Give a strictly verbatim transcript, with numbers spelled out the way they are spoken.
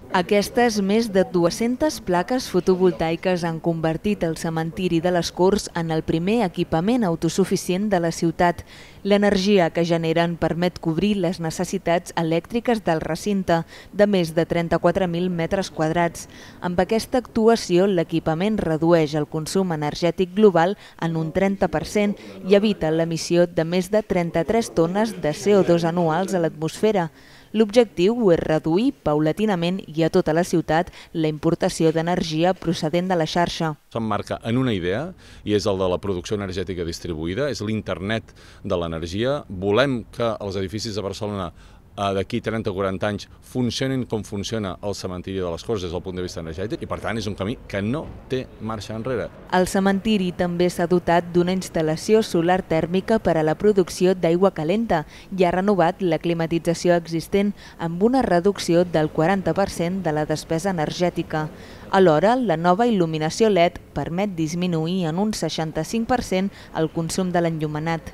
Aquestes més de dues-centes plaques fotovoltaiques han convertit el cementiri de les Corts en el primer equipament autosuficient de la ciutat. L'energia que generen permet cobrir les necessitats elèctriques del recinte, de més de trenta-quatre mil metres quadrats. Amb aquesta actuació, l'equipament redueix el consum energètic global en un trenta per cent i evita l'emissió de més de trenta-tres tones de C O dos anuals a l'atmosfera. L'objectiu és reduir paulatinament i a tota la ciutat la importació d'energia procedent de la xarxa. S'emmarca en una idea i és el de la producció energètica distribuïda, és l'internet de l'energia. Volem que els edificis de Barcelona d'aquí trenta o quaranta anys funcionin com funciona el cementiri de les Corts des del punt de vista energètic i per tant és un camí que no té marxa enrere. El cementiri també s'ha dotat d'una instal·lació solar tèrmica per a la producció d'aigua calenta i ha renovat la climatització existent amb una reducció del quaranta per cent de la despesa energètica. Alhora, la nova il·luminació L E D permet disminuir en un seixanta-cinc per cent el consum de l'enllumenat.